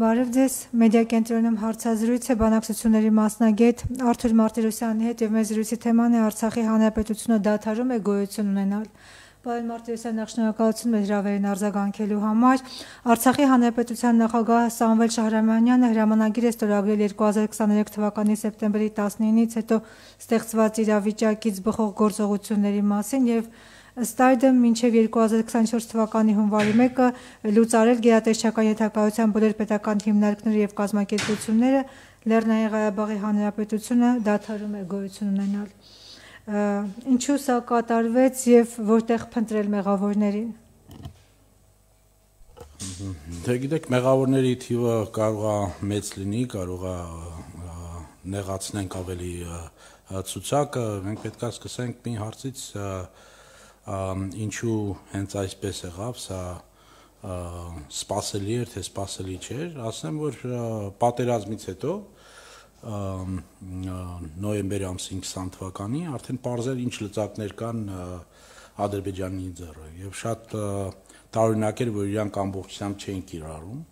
Բարև ձեզ, մեդիա կենտրոնում հարցազրույց է բանակցությունների մասնագետ Արթուր Մարտիրոսյանի հետ եւ մեր զրույցի թեման է Արցախի հանրապետությունը դադարում է գոյություն ունենալ։ Պարոն Մարտիրոսյան, նախ շնորհակալություն մեր հրավերին արձագանքելու համար։ Արցախի հանրապետության նախագահ Սամվել Շահրամանյանը հրամանագիր է ստորագրել 2023 թվականի սեպտեմբերի 19-ից հետո ստեղծված իրավիճակից բխող գործողությունների մասին եւ ըստ այդմ մինչև 2024 թվականի հունվարի 1-ը լուծարել գերատեսչական ենթակայության բոլոր պետական հիմնարկները եւ կազմակերպությունները Լեռնային Ղարաբաղի Հանրապետությունը դադարում է գոյություն ունենալ։ Ինչու սա կատարվեց եւ որտեղ փնտրել մեղավորներին։ Դե գիտեք, մեղավորների թիվը կարող է մեծ լինի, կարող է նեղացնենք ավելի ցուցակը, մենք պետք է սկսենք մի հարցից ինչու հենց այսպես եղավ, սա սպասելի էր, թե սպասելի չէր, ասեմ, որ պատերազմից հետո նոյեմբերի ամսին 20 թվականի արդեն պարզել ինչ լծակներ կան Ադրբեջանի ձեռը եւ շատ տարօրինակ էր, որ իրանք ամբողջությամբ չէին կիրառում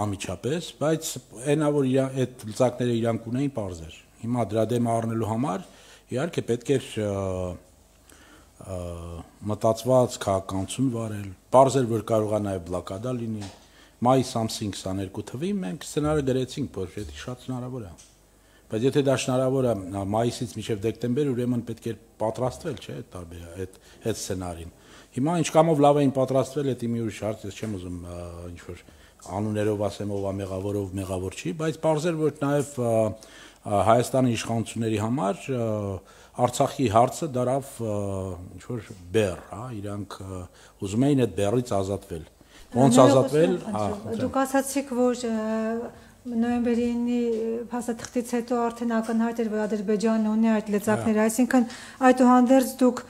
անմիջապես, բայց այնա որ այդ լծակները իրանք ունեին պարզեր։ Հիմա դրա դեմը առնելու համար իհարկե պետք էր մտածված քաղաքականություն վարել, պարզեր, որ կարող է նաև բլոկադա լինի։ Մայիս ամսին 22 թվին մենք սցենարը գրեցինք, որ դա շատ հնարավոր է։ Բայց եթե դա հնարավոր է մայիսից մինչև դեկտեմբեր, ուրեմն պետք է պատրաստվել, չէ՞, այդ սցենարին։ Հիմա ինչ կամով լավ էին պատրաստվել, դա մի ուրիշ հարց, ես չեմ ուզում ինչ որ անուններով ասեմ ով է մեղավորով մեղավոր չի, բայց պարզեր, որ նաև Հայաստանի իշխանությունների համար Արցախի հարցը դարավ ինչ որ բեռ, հա, իրանք ուզում էին այդ բեռից ազատվել։ Ոնց ազատվել, Դուք ասացիք, որ նոյեմբերի 9-ի փաստաթղթից հետո արդեն ակնհայտ էր, որ Ադրբեջանը ունի այդ լծակները, այսինքն այդուհանդերձ դուք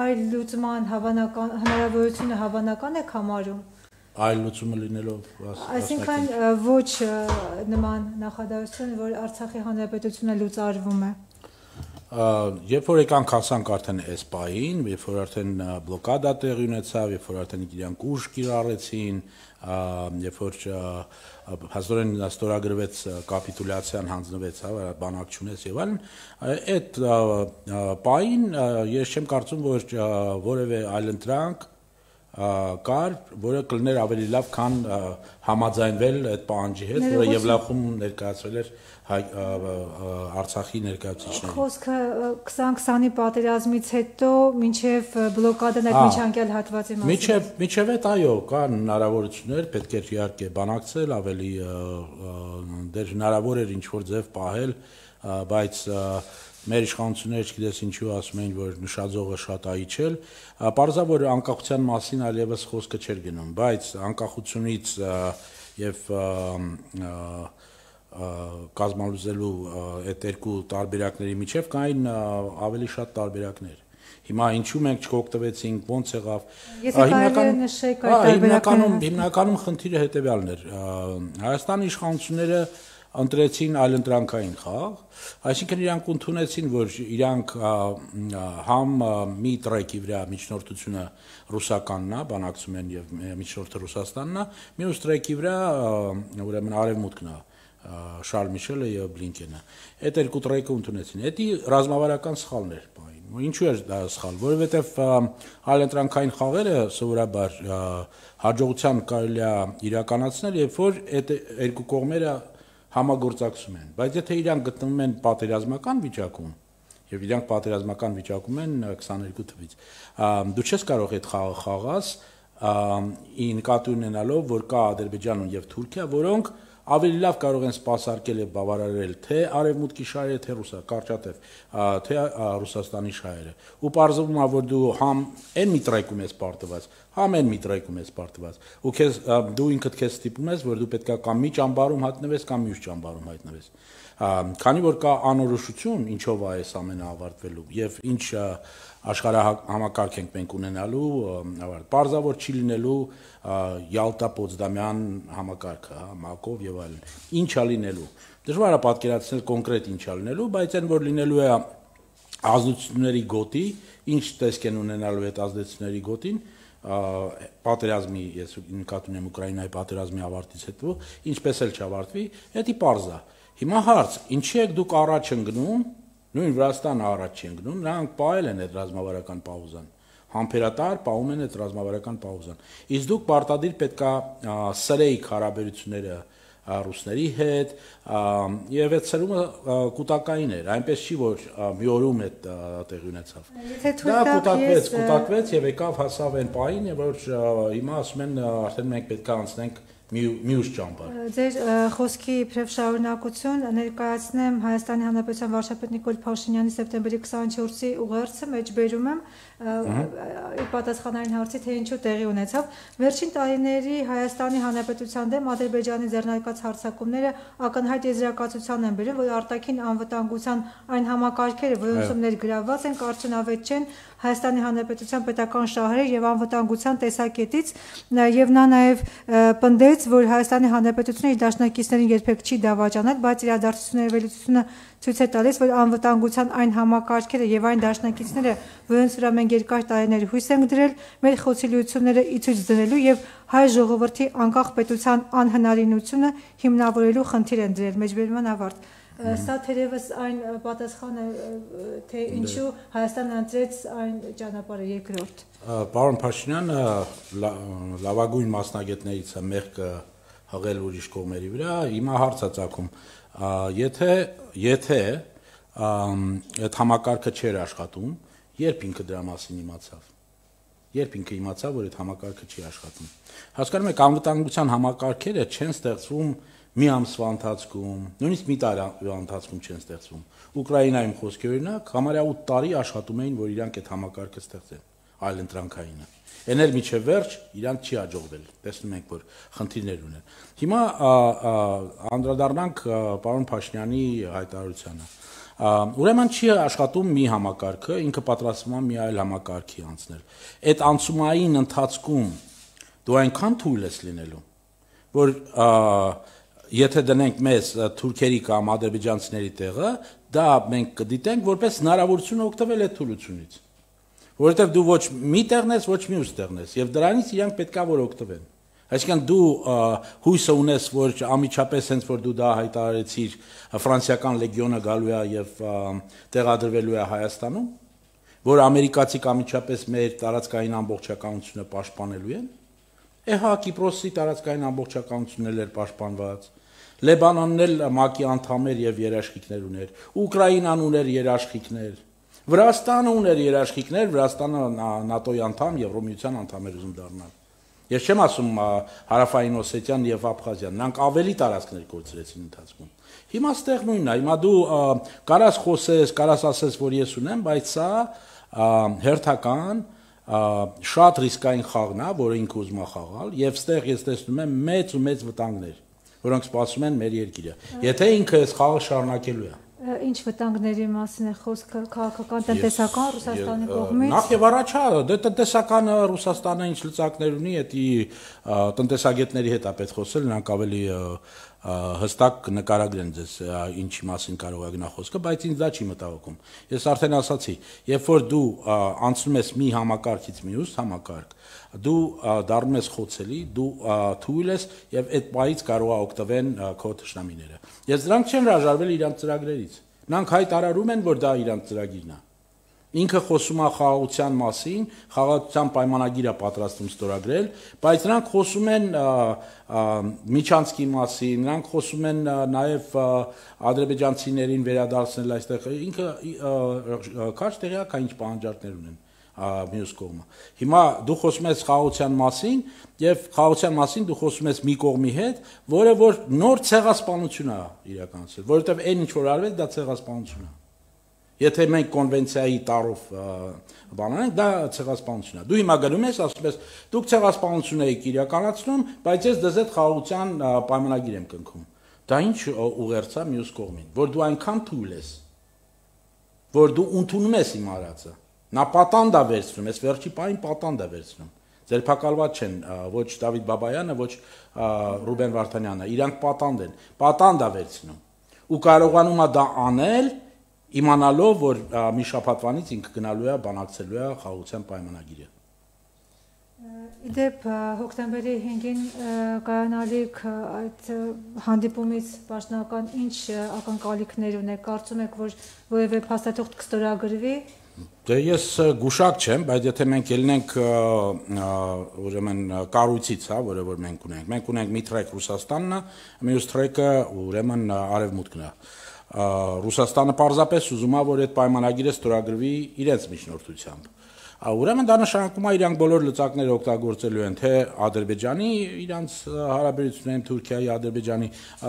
այլ լուծման հնարավորությունը հավանական եք համարում։ Այլ լուծումը լինելով Այսինքն ոչ նման նախադասություն, որ Արցախի հանրապետությունը լուծարվում է։ Երբ որ եկանք հասանք արդեն էսպային, երբ որ արդեն բլոկադա տեղի ունեցավ, երբ որ արդեն իրանք ուժ կիրառեցին, երբ որ հազորեն ստորագրվեց կապիտուլյացիան հանձնվեց, հա, բանակ չունեց եւ այլն, այդ պահին ես չեմ կարծում, որ որևէ այլընտրանք կար, որը կլներ ավելի լավ, քան համաձայնվել այդ պահանջի հետ, որը Եվլախում ներկայացրել էր Արցախի ներկայացուցիչներին։ Խոսքը 2020-ի պատերազմից հետո մինչև բլոկադան այդ միջանկյալ հատվածի մասին։ Մինչև այդ այո, կան հնարավորություններ, պետք է իհարկե բանակցել, ավելի դեր հնարավոր էր ինչ-որ ձև պահել, բայց մեր իշխանությունները չգիտես ինչու ասում էին, որ նշաձողը շատ այիչել, պարզա որ անկախության մասին այլևս խոսքը չէր գնում, բայց անկախությունից եւ կազմալուծելու այդ երկու տարբերակների միջև կային ավելի շատ տարբերակներ։ Հիմա ինչու մենք չօգտվեցինք, ոնց եղավ։ Հիմնականում խնդիրը հետեւյալն էր։ Հայաստանի իշխանությունները ընտրեցին այլընտրանքային խաղ, այսինքն իրանք ընդունեցին, որ իրանք համ մի տրեկի վրա միջնորդությունը ռուսականն է, բանակցում են եւ միջնորդը Ռուսաստանն է, մյուս տրեկի վրա ուրեմն արևմուտքն է, Շարլ Միշելը եւ Բլինկենը։ Այդ երկու տրեկը ընդունեցին։ Դա ռազմավարական սխալն էր բային։ Ինչու էր դա սխալ, որովհետեւ այլընտրանքային խաղերը սովորաբար հաջողության կարելի է իրականացնել, երբ որ այդ երկու կողմերը համագործակցում են, բայց եթե իրանք գտնվում են պատերազմական վիճակում, եւ իրանք պատերազմական վիճակում են 22 թվից, դու չես կարող այդ խաղը խաղաս, նկատի ունենալով, որ կա Ադրբեջանն եւ Թուրքիա, որոնք ավելի լավ կարող են սպասարկել եւ բավարարել թե արևմուտքի շահերը, թե կարճատև, թե Ռուսաստանի շահերը։ Ու պարզվում է, որ դու համ այն մի տրեկում ես պարտված, համ այն մի տրեկում ես պարտված։ Ու դու ինքդ քեզ ստիպում ես, որ դու պետքա կամ մի ճամբարում հայտնվես, կամ մյուս ճամբարում հայտնվես։ Քանի որ կա անորոշություն, ինչով է այս ամենը ավարտվելու եւ ինչ աշխարհահամակարգ ենք մենք ունենալու, պարզավոր չի լինելու Յալտա-Պոցդամյան համակարգը, հա, Մակով եւ այլն։ Ինչ է լինելու։ Դժվար է պատկերացնել կոնկրետ ինչ է լինելու, բայց այն որ լինելու է ազդեցությունների գոտի, ինչ տեսք են ունենալու այդ ազդեցությունների գոտին, պատերազմի, ես նկատի ունեմ Ուկրաինայի պատերազմի ավարտից հետո, ինչպես էլ չավարտվի, դա պարզ է։ Հիմա հարց, ինչի եք դուք առաջ ընկնում, նույն Վրաստանը առաջ չի ընկնում, նրանք պահել են այդ ռազմավարական պաուզան, համբերատար պահում են այդ ռազմավարական պաուզան։ Իսկ դուք պարտադիր պետքա սրեիք հարաբերությունները ռուսների հետ, եւ այդ սրումը կուտակային էր, այնպես չի, որ մի օրում այդ տեղի ունեցավ։ Դա կուտակվեց եւ եկավ հասավ այն պահին, որ հիմա ասում են արդեն մենք պետք է անցնենք մյուս ճամբար։ Ձեր խոսքի իբրև շարունակություն ներկայացնեմ Հայաստանի Հանրապետության վարչապետ Նիկոլ Փաշինյանի սեպտեմբերի 24-ի ուղերձը մեջբերում եմ պատասխանային հարցի, թե ինչու տեղի ունեցավ։ Վերջին տարիների Հայաստանի Հանրապետության դեմ Ադրբեջանի ձեռնարկած հարձակումները ակնհայտ եզրակացության են բերում, որ արտաքին անվտանգության այն համակարգերը, որոնցում ներգրավված են, արդյունավետ չեն Հայաստանի Հանրապետության պետական շահերի եւ անվտանգության տեսակետից, եւ նա նաեւ պնդեց, որ Հայաստանի Հանրապետությունը իր դաշնակիցներին երբեք չի դավաճանել, բայց իրադարձությունների վերլուծությունը ցույց է տալիս, որ անվտանգության այն համակարգերը եւ այն դաշնակիցները, որոնց վրա մենք երկար տարիներ հույս ենք դրել, մեր խոցելիությունները ի ցույց դնելու եւ հայ ժողովրդի անկախ պետության անհնարինությունը հիմնավորելու խնդիր են դրել։ Մեջբերման ավարտ։ Սա թերևս այն պատասխանը, թե ինչու Հայաստանը ընտրեց այն ճանապարհը երկրորդ։ Պարոն Փաշինյանը լավագույն մասնագետներից է մեղքը հղել ուրիշ կողմերի վրա, հիմա հարց է ծագում, եթե այդ համակարգը չէր աշխատում, երբ ինքը դրա մասին իմացավ։ Երբ ինքը իմացավ, որ այդ համակարգը չի աշխատում։ Հասկանում եք, անվտանգության համակարգերը չեն ստեղծվում մի ամսվա ընթացքում, նույնիսկ մի տարի ընթացքում չեն ստեղծվում։ Ուկրաինայում խոսքի օրինակ, համարյա 8 տարի աշխատում էին, որ իրանք այդ համակարգը ստեղծեն, այլ ընտրանքայինը։ Էն էլ միջև վերջ իրանք չի հաջողվել։ Տեսնում ենք, որ խնդիրներ ունեն։ Հիմա անդրադառնանք պարոն Փաշինյանի հայտարարությանը։ Ուրեմն չի աշխատում մի համակարգը, ինքը պատրաստվում է մի այլ համակարգի անցնել։ Այդ անցումային ընթացքում դու այնքան թույլ ես լինելու, որ եթե դնենք մեզ թուրքերի կամ ադրբեջանցիների տեղը, դա մենք կդիտենք որպես հնարավորություն օգտվել այդ թուլությունից, որովհետև դու ոչ մի տեղն ես, ոչ մյուս տեղն ես, եւ դրանից իրանք պետքա որ օգտվեն։ Այսինքն դու հույսը ունես, որ ամիջապես հենց որ դու դա հայտարարեցիր, ֆրանսիական լեգիոնը գալու է եւ տեղադրվելու է Հայաստանում, որ ամերիկացիք ամիջապես մեր տարածքային ամբողջականությունը պաշտպանելու են։ Էհա Կիպրոսի տարածքային ամբողջականությունն էր պաշտպանված, Լեբանանն էլ ՄԱԿ-ի անդամ էր եւ երաշխիքներ ուներ, Ուկրաինան ուներ երաշխիքներ, Վրաստանը ուներ երաշխիքներ, Վրաստանը ՆԱՏՕ-ի անդամ, Եվրոմիության անդամ էր ուզում դառնալ։ Ես չեմ ասում Հարավային Օսետիան եւ Աբխազիան, նրանք ավելի տարածքներ կորցրեցին ընթացքում։ Հիմա ստեղ նույնն է, հիմա դու կարաս խոսես, կարաս ասես, որ ես ունեմ, բայց սա հերթական շատ ռիսկային խաղն է, որը ինքը ուզում է խաղալ, եւ ստեղ ես տեսնում եմ մեծ ու մեծ վտանգներ, որոնք սպասում են մեր երկիրը։ Եթե ինքը այս խաղը շարունակելու է։ Ինչ վտանգների մասին է խոսքը, քաղաքական, տնտեսական Ռուսաստանի կողմից։ Նախ եւ առաջ, դե տնտեսական Ռուսաստանը ինչ լծակներ ունի, դա տնտեսագետների հետ է պետք խոսել, նրանք ավելի հստակ նկարագրեն ձեզ ինչի մասին կարող է գնա խոսքը, բայց ինձ դա չի մտահոգում։ Ես արդեն ասացի, երբ որ դու անցնում ես մի համակարգից մյուս համակարգ, դու դառնում ես խոցելի, դու թույլ ես եւ այդ պահից կարող է օգտվեն քո թշնամիները։ Ես դրանք չեմ հրաժարվել իրանց ծրագրերից։ Նրանք հայտարարում են, որ դա իրանց ծրագիրն է։ Ինքը խոսում է խաղաղության մասին, խաղաղության պայմանագիր է պատրաստում ստորագրել, բայց նրանք խոսում են Միչանսկի մասին, նրանք խոսում են նաև ադրբեջանցիներին վերադարձնել այստեղ, ինքը քաջ տեղյակ է ինչ պահանջարկներ ունեն մյուս կողմը։ Հիմա դու խոսում ես խաղաղության մասին եւ խաղաղության մասին դու խոսում ես մի կողմի հետ, որը որ նոր ցեղասպանություն է իրականացրել, որովհետեւ այն ինչ որ արվեց դա ցեղասպանություն է։ Եթե մենք կոնվենցիայի տարով բանանենք, դա ցեղասպանություն է։ Դու հիմա գնում ես, ասում ես, դուք ցեղասպանություն եք իրականացնում, բայց ես դες այդ խաղաղության պայմանագիր եմ կնքում։ Դա ինչ ուղերձ է մյուս կողմին, որ դու այնքան թույլ ես, որ դու ընդունում ես իմ արածը։ Նա պատանդ է վերցնում, ես վերջի պահին պատանդ է վերցնում։ Ձերբակալված չեն ոչ Դավիթ Բաբայանը, ոչ Ռուբեն Վարդանյանը, իրանք պատանդ է վերցնում։ Ու կարողանում է դա անել իմանալով, որ մի շաբաթվանից ինքը գնալու է բանակցելու է խաղաղության պայմանագիրը։ Իդեպ հոկտեմբերի 5-ին կայանալիք այդ հանդիպումից պաշտոնական ինչ ակնկալիքներ ունեք, կարծում եք, որ որևէ փաստաթուղթ կստորագրվի։ Դե ես գուշակ չեմ, բայց եթե մենք ելնենք ուրեմն կառույցից, հա, որը որ մենք ունենք մի թրեք Ռուսաստանն է, մյուս թրեկը ուրեմն Արևմուտքն է։ Ռուսաստանը պարզապես ուզում է, որ այդ պայմանագիրը ստորագրվի իրենց միջնորդությամբ։ Ուրեմն դա նշանակում է իրանք բոլոր լծակները օգտագործելու են թե Ադրբեջանի իրանց հարաբերություններին Թուրքիայի, Ադրբեջանի,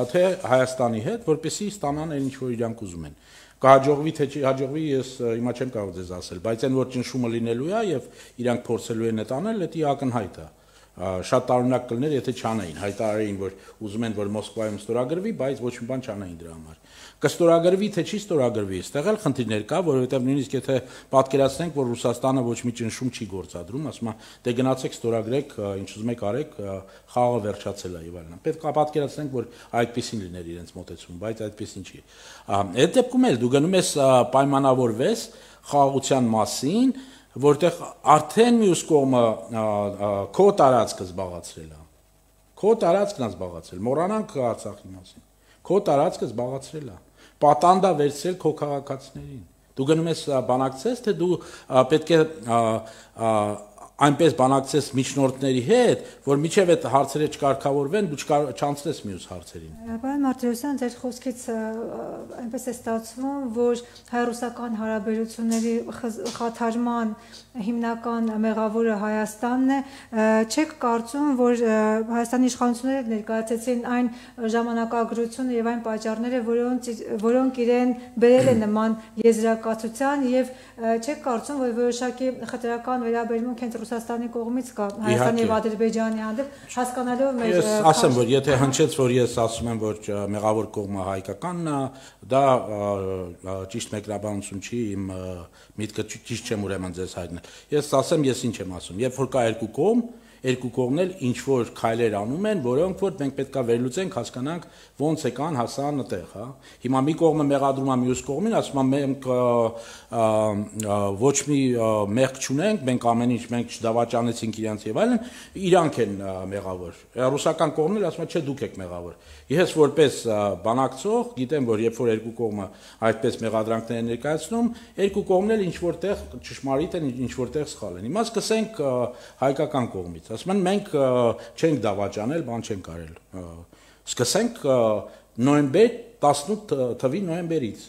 թե Հայաստանի հետ, որպեսզի ստանան այն ինչ որ իրանք ուզում են։ Կհաջողվի թե չի հաջողվի, ես հիմա չեմ կարող ձեզ ասել, բայց այն որ ճնշումը լինելու է եւ իրանք փորձելու են այդ անել, դա ակնհայտ է։ Շատ տարօրինակ կլներ, եթե չանային, հայտարարեին, որ ուզում են, որ Մոսկվայում ստորագրվի, բայց ոչ մի բան չանային դրա համար։ Կստորագրվի թե չի ստորագրվի, այստեղ էլ խնդիրներ կա, որովհետեւ նույնիսկ եթե պատկերացնենք, որ Ռուսաստանը ոչ մի ճնշում չի գործադրում, ասում է, դե գնացեք ստորագրեք, ինչ ուզում եք արեք, խաղը վերջացել է եւ այլն։ Պետք է պատկերացնենք, որ այդպեսին լիներ իրենց մոտեցում, բայց այդպեսին չի։ Այդ դեպքում էլ դու գնում ես պայմանավորվես խաղաղության մասին, որտեղ արդեն մյուս կողմը քո տարածքը զբաղացրել է։ Քո տարածքն է զբաղացրել, մոռանանք Արցախի մասին։ Քո տարածքը զբաղացրել է։ Պատանդա վերցրել քո քաղաքացիներին։ Դու գնում ես բանակցես, թե դու պետք է այնպես բանակցես միջնորդների հետ, որ միջև այդ հարցերը չկարգավորվեն, դու չանցնես մյուս հարցերին։ Պարոն Մարտիրոսյան, ձեր խոսքից այնպես է ստացվում, որ հայ-ռուսական հարաբերությունների խաթարման հիմնական մեղավորը Հայաստանն է, չեք կարծում, որ Հայաստանի իշխանությունները ներկայացրեցին այն ժամանակագրությունը եւ այն պատճառները, որոնք իրեն բերել են նման եզրակացության եւ չեք կարծում, որ որոշակի խտրական վերաբերմունք հենց Ռուսաստանի կողմից կա Հայաստանի եւ Ադրբեջանի հանդեպ, հասկանալով մեր Ես ասեմ, որ եթե հնչեց, որ ես ասում եմ, որ մեղավոր կողմը հայկականն է, դա ճիշտ մեկնաբանություն չի, իմ միտքը ճիշտ չեմ ուրեմն ձեզ հայտնել։ Ես ասեմ, ես ինչ եմ ասում, երբ որ կա երկու կողմն էլ ինչ որ քայլեր անում են, որոնք որ մենք պետքա վերլուծենք, հասկանանք ոնց եկան հասան այդտեղ, հա։ Հիմա մի կողմը մեղադրում է մյուս կողմին, ասում է մենք ոչ մի մեղք չունենք, մենք ամեն ինչ մենք չդավաճանեցինք իրանց եւ այլն, իրանք են մեղավոր։ Ռուսական կողմն էլ ասում է, չէ, դուք եք մեղավոր։ Ես որպես բանակցող գիտեմ, որ երբ որ երկու կողմը այդպես մեղադրանքներ են ներկայացնում, երկու կողմն էլ ինչ որտեղ ճշմարիտ են, ինչ որտեղ սխալ են։ Հիմա սկսենք հայկական կողմից։ Ասում են մենք չենք դավաճանել, բան չենք արել։ Սկսենք նոյեմբեր 18 թվի նոյեմբերից։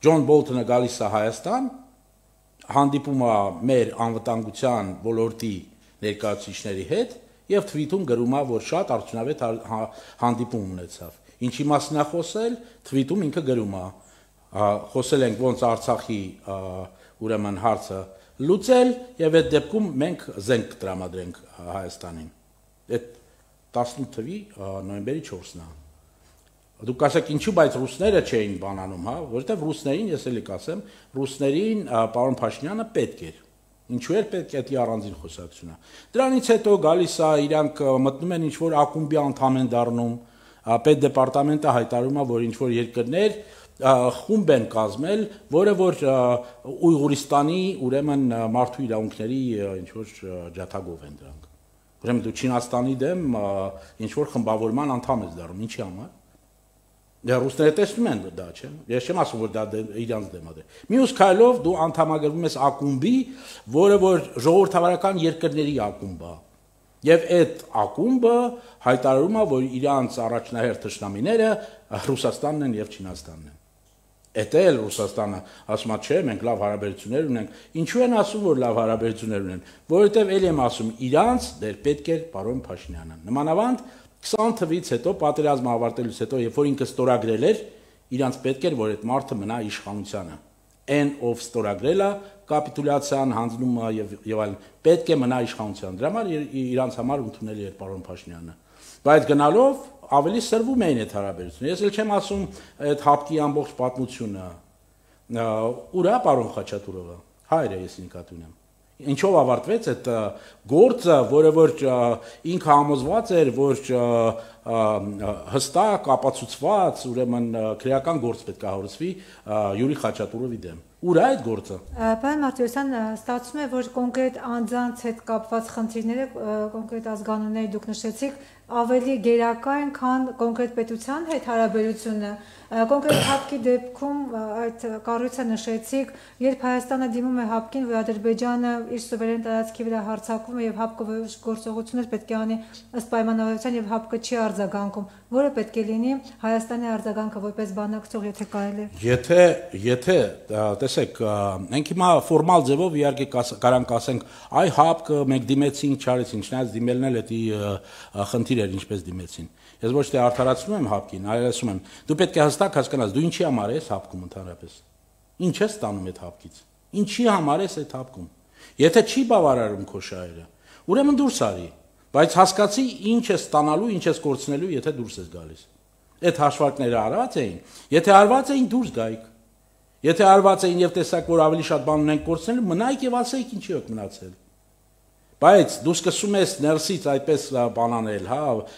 Ջոն Բոլթոնը գալիս է Հայաստան, հանդիպում է մեր անվտանգության ոլորտի ներկայացուցիչների հետ եւ թվիթում գրում է, որ շատ արդյունավետ հանդիպում ունեցավ։ Ինչի մասին է խոսել, թվիթում ինքը գրում է։ Խոսել ենք ոնց Արցախի ուրեմն հարցը լուծել եւ այդ դեպքում մենք զենք կտրամադրենք Հայաստանին։ Այդ 18 թվի նոյեմբերի 4-ն է։ Դուք ասեք ինչու, բայց ռուսները չէին բանանում, հա, որովհետեւ ռուսներին, ես էլի կասեմ, ռուսներին պարոն Փաշինյանը պետք էր։ Ինչու էր պետք է դա առանձին խոսակցություն է։ Դրանից հետո գալիս է իրանք մտնում են ինչ որ ակումբի անդամ են դառնում, պետդեպարտամենտը հայտարարում է, որ ինչ որ երկրներ խումբ են կազմել, որը որ Ուйղուրստանի ուրեմն մարդու իրավունքների ինչ որ ջաթագով են դրանք։ Ուրեմն դու Չինաստանի դեմ ինչ որ խմբավորման անդամ ես դառնում, ինչի համար։ Դե ռուսները տեսնում են դա, չէ՞։ Ես չեմ ասում, որ դա իրանց դեմ է։ Մյուս քայլով դու անդամագրվում ես ակումբի, որը որ ժողովրդավարական երկրների ակումբ է։ Եվ այդ ակումբը հայտարարում է, որ իրանց առաջնահերթ թշնամիները Ռուսաստանն են եւ Չինաստանն են։ Էդ էլ Ռուսաստանը ասում է, չէ, մենք լավ հարաբերություններ ունենք։ Ինչու են ասում, որ լավ հարաբերություններ ունեն։ Որովհետեւ ել եմ ասում, իրանց դեր պետք էր պարոն Փաշինյանը։ Նմանավանդ 20 թվից հետո պատերազմը ավարտելուց հետո, երբ որ ինքը ստորագրել էր, իրանց պետք էր, որ այդ մարդը մնա իշխանությանը։ Այն ով ստորագրել է կապիտուլյացիան, հանձնումը եւ այլն, պետք է մնա իշխանության։ Դրա համար իրանց համար ընդունելի էր պարոն Փաշինյանը։ Բայց գնալով ավելի սրվում էին այդ հարաբերությունները։ Ես էլ չեմ ասում այդ հապկի ամբողջ պատմությունը։ Ուրա պարոն Խաչատուրովը, հայրը ես ինքնատուն եմ։ Ինչով ավարտվեց այդ գործը, որը որ ինքը համոզված էր, որ հստակ ապացուցված, ուրեմն քրեական գործ պետք է հարուցվի Յուրի Խաչատուրովի դեմ։ Ուր է այդ գործը։ Պարոն Մարտիրոսյան, ստացվում է, որ կոնկրետ անձանց հետ կապված խնդիրները, կոնկրետ ազգանունները դուք նշեցիք, ավելի գերակա են, քան կոնկրետ պետության հետ հարաբերությունը։ Կոնկրետ ՀԱՊԿ-ի դեպքում այդ կառույցը նշեցիք, երբ Հայաստանը դիմում է ՀԱՊԿ-ին, որ Ադրբեջանը իր սուվերեն տարածքի վրա հարձակվում է եւ ՀԱՊԿ-ը գործողություններ պետք է անի ըստ պայմանավորության եւ ՀԱՊԿ-ը չի արձագանքում, որը պետք է լինի Հայաստանի արձագանքը որպես բանակցող, եթե կարելի է։ Եթե տեսեք, մենք հիմա ֆորմալ ձևով իհարկե կարանք ասենք, այ ՀԱՊԿ-ը մենք դիմեցինք, չարեցինք, չնայած դիմելն էլ դա խնդիր էր, ինչպես դիմեցին։ Ես ոչ թե արդարացնում եմ ՀԱՊԿ-ին, այլ ասում եմ, դու պետք է հստակ հասկանաս, դու ինչի համար ես ՀԱՊԿ-ում ընդհանրապես։ Ինչ ես ստանում այդ ՀԱՊԿ-ից։ Ինչի համար ես այդ ՀԱՊԿ-ում։ Եթե չի բավարարում քո շահերը, ուրեմն դուրս արի, բայց հասկացի ինչ ես ստանալու, ինչ ես կորցնելու, եթե դուրս ես գալիս։ Այդ հաշվարկները արված էին, եթե արված էին դուրս գայիք։ Եթե արված էին եւ տեսակ, որ ավելի շատ բան ունենք կորցնել, մնայիք եւ ասեիք ինչի եք մնացել։ Բայց դու սկսում ես ներսից այդպես բանանել, հա,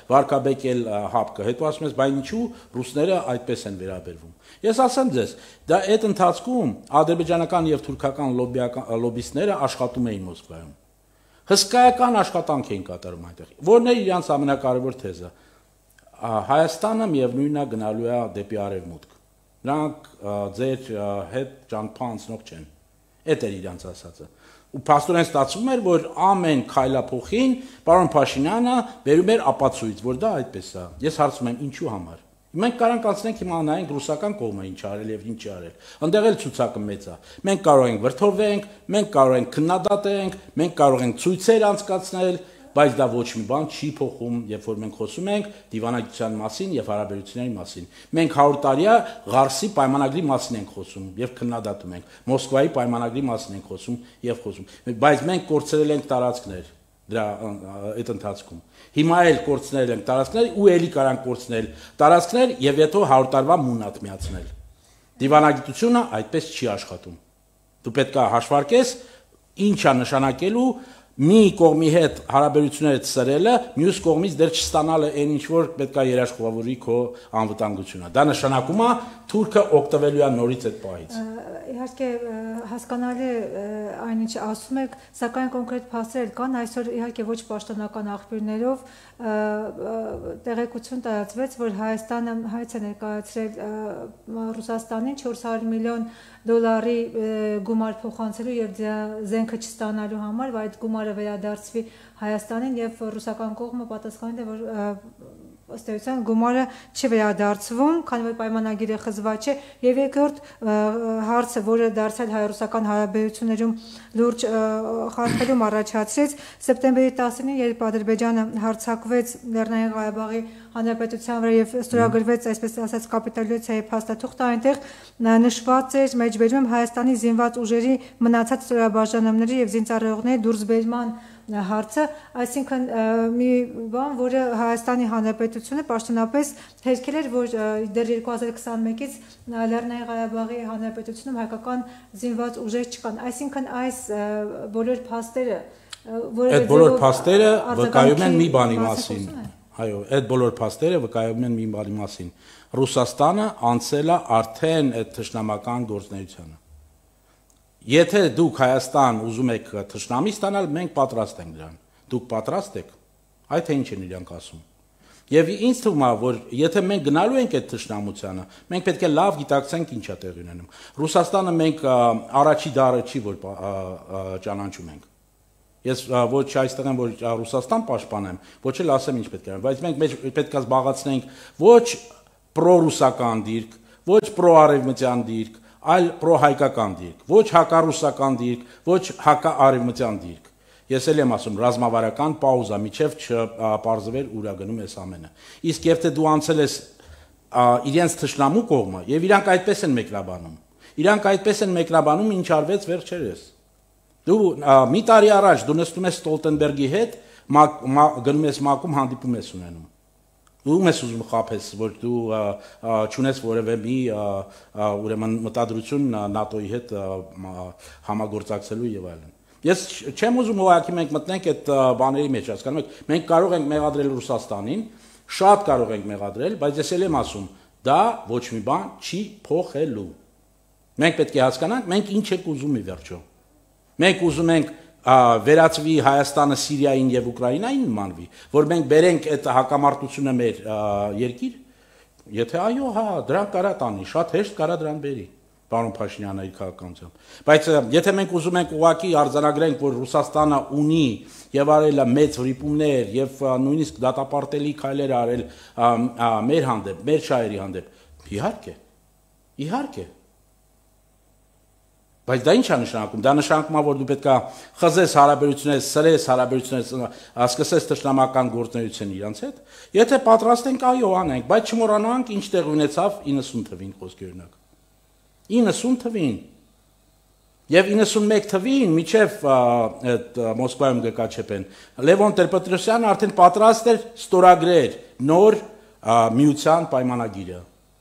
վարկաբեկել ՀԱՊԿ-ը, հետո ասում ես, բայց ինչու ռուսները այդպես են վերաբերվում։ Ես ասեմ ձեզ, դա այդ ընթացքում ադրբեջանական եւ թուրքական լոբիստները աշխատում էին Մոսկվայում։ Հսկայական աշխատանք էին կատարում այնտեղ։ Որն է իրանց ամենակարևոր թեզը։ Հայաստանը միևնույնն է գնալու է դեպի արևմուտք։ Նրանք ձեր հետ ճանապարհ անցնող չեն։ Այդ էր իրանց ասածը։ Ու փաստորեն ստացվում էր, որ ամեն քայլափոխին պարոն Փաշինյանը բերում էր ապացույց, որ դա այդպես է։ Ես հարցում եմ, ինչու համար։ Մենք կարանք անցնենք հիմա նայենք ռուսական կողմը ինչ արել եւ ինչ արել։ Այնտեղ էլ ցուցակը մեծ է։ Մենք կարող ենք վրթովենք, մենք կարող ենք քննադատենք, մենք կարող ենք ցույցեր անցկացնել, բայց դա ոչ մի բան չի փոխում, երբ որ մենք խոսում ենք դիվանագիտության մասին եւ հարաբերությունների մասին։ Մենք 100 տարիա Ղարսի պայմանագրի մասին ենք խոսում եւ քննադատում ենք։ Մոսկվայի պայմանագրի մասին ենք խոսում եւ խոսում։ Բայց մենք կորցրել ենք տարածքներ դրա այդ ընթացքում։ Հիմա էլ կորցնել ենք տարածքներ ու ելի կարանք կորցնել տարածքներ եւ հետո 100 տարվա մունատ միացնել։ Դիվանագիտությունը այդպես չի աշխատում։ Դու պետք է հաշվարկես ինչ է նշանակելու մի կողմի հետ հարաբերությունները ծրելը, մյուս կողմից դեռ չստանալը այն ինչ որ պետք է երաշխավորի քո անվտանգությունը։ Դա նշանակում է թուրքը օգտվելու է նորից այդ պահից։ Իհարկե հասկանալի է այն ինչ ասում եք, սակայն կոնկրետ փաստեր կան, այսօր իհարկե ոչ պաշտոնական աղբյուրներով տեղեկություն տարածվեց, որ Հայաստանը հայց է ներկայացրել Ռուսաստանին 400 միլիոն դոլարի գումար փոխանցելու եւ զենքը չստանալու համար, որ այդ գումարը վերադարձվի Հայաստանին եւ ռուսական կողմը պատասխանել է, որ ըստ էության գումարը չի վերադարձվում, քանի որ պայմանագիրը խզված չէ, եւ երկրորդ հարցը, որը դարձել հայ-ռուսական հարաբերություններում լուրջ խախտում առաջացրեց, սեպտեմբերի 10-ին, երբ Ադրբեջանը հարձակվեց Լեռնային Ղարաբաղի Հանրապետության վրա եւ ստորագրվեց, այսպես ասած, կապիտուլյացիայի փաստաթուղթը, այնտեղ նշված էր մեջբերում Հայաստանի զինված ուժերի մնացած ստորաբաժանումների եւ զինծառայողների դուրսբերման հարցը, այսինքն մի բան, որը Հայաստանի Հանրապետությունը պաշտոնապես հերքել էր, որ դեռ 2021-ից Լեռնային Ղարաբաղի Հանրապետությունում հայկական զինված ուժեր չկան, այսինքն այս բոլոր փաստերը, այդ բոլոր փաստերը վկայում են մի բանի մասին, այո, այդ բոլոր փաստերը վկայում են մի բանի մասին, Ռուսաստանը անցել է արդեն այդ թշնամական գործունեությանը։ Եթե դուք Հայաստան ուզում եք թշնամի ստանալ, մենք պատրաստ ենք դրան։ Դուք պատրաստ եք, այ թե ինչ են իրանք ասում։ Եվ ինձ թվում է, որ եթե մենք գնալու ենք այդ թշնամությանը, մենք պետք է լավ գիտակցենք ինչ է տեղի ունենում։ Ռուսաստանը մենք առաջի դարը չի, որ ճանաչում ենք։ Ես ոչ այստեղ եմ, որ Ռուսաստան պաշտպանեմ, ոչ էլ ասեմ ինչ պետք է, բայց մենք պետք է զբաղացնենք ոչ պրոռուսական դիրք, ոչ պրոարևմտյան դիրք, այլ պրոհայկական դիրք, ոչ հակառուսական դիրք, ոչ հակաարևմտյան դիրք։ Ես էլ եմ ասում ռազմավարական պաուզա, միջև չպարզվեր ուր է գնում այս ամենը։ Իսկ եթե դու անցել ես իրենց թշնամու կողմը, եւ իրանք այդպես են մեկնաբանում։ Իրանք այդպես են մեկնաբանում, ինչ արվեց վերջերս։ Դու մի տարի առաջ դու նստում ես Ստոլտենբերգի հետ, գնում ես ՄԱԿ-ում հանդիպում ես ունենում։ Ում ես ուզում խաբես, որ դու չունես որևէ մի ուրեմն մտադրություն ՆԱՏՕ-ի հետ համագործակցելու եւ այլն։ Ես չեմ ուզում ուղղակի մենք մտնենք այդ բաների մեջ, հասկանում եք, մենք կարող ենք մեղադրել Ռուսաստանին, շատ կարող ենք մեղադրել, բայց ես էլ եմ ասում, դա ոչ մի բան չի փոխելու։ Մենք պետք է հասկանանք, մենք ինչ ենք ուզում ի վերջո։ Մենք ուզում ենք վերածվի Հայաստանը Սիրիային եւ Ուկրաինային նմանվի, որ մենք բերենք այդ հակամարտությունը մեր երկիր, եթե այո, հա, դրան կարա տանի, շատ հեշտ կարա դրան բերի, պարոն Փաշինյանը իր քաղաքականությամբ։ Բայց եթե մենք ուզում ենք ուղղակի արձանագրենք, որ Ռուսաստանը ունի եւ արել է մեծ ռիպումներ եւ նույնիսկ դատապարտելի քայլեր արել մեր հանդեպ, մեր շահերի հանդեպ, իհարկե։ Բայց դա ինչ է նշանակում։ Դա նշանակում է, որ դու պետք է խզես հարաբերություններ, սրես հարաբերություններ, սկսես թշնամական գործունեություն իրանց հետ։ Եթե պատրաստ ենք, այո, անենք, բայց չմոռանանք ինչ տեղ ունեցավ 90 թվին խոսքի օրինակ։ 90 թվին։ Եվ 91 թվին միջև այդ Մոսկվայում գկաչեպեն Լևոն Տեր-Պետրոսյանը արդեն պատրաստ էր ստորագրեր նոր միության պայմանագիրը։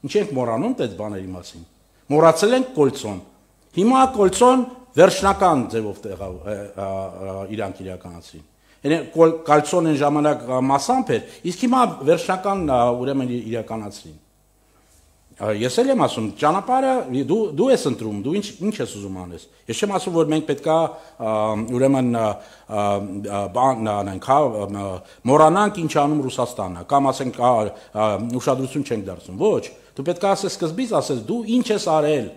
Ինչ ենք մոռանում այդ բաների մասին։ Մոռացել ենք Կոլցոն։ Հիմա Կոլցոն վերջնական ձևով իրանք իրականացրին։ Կոլցոն այն ժամանակ մասամբ էր, իսկ հիմա վերջնական ուրեմն իրականացրին։ Ես էլ եմ ասում, ճանապարհը դու ես ընտրում, դու ինչ ես ուզում անես։ Ես չեմ ասում, որ մենք պետքա ուրեմն բան անենք, մոռանանք ինչ անում Ռուսաստանը, կամ ասենք ուշադրություն չենք դարձնում։ Ոչ, դու պետք է ասես սկզբից ասես դու ինչ ես արել,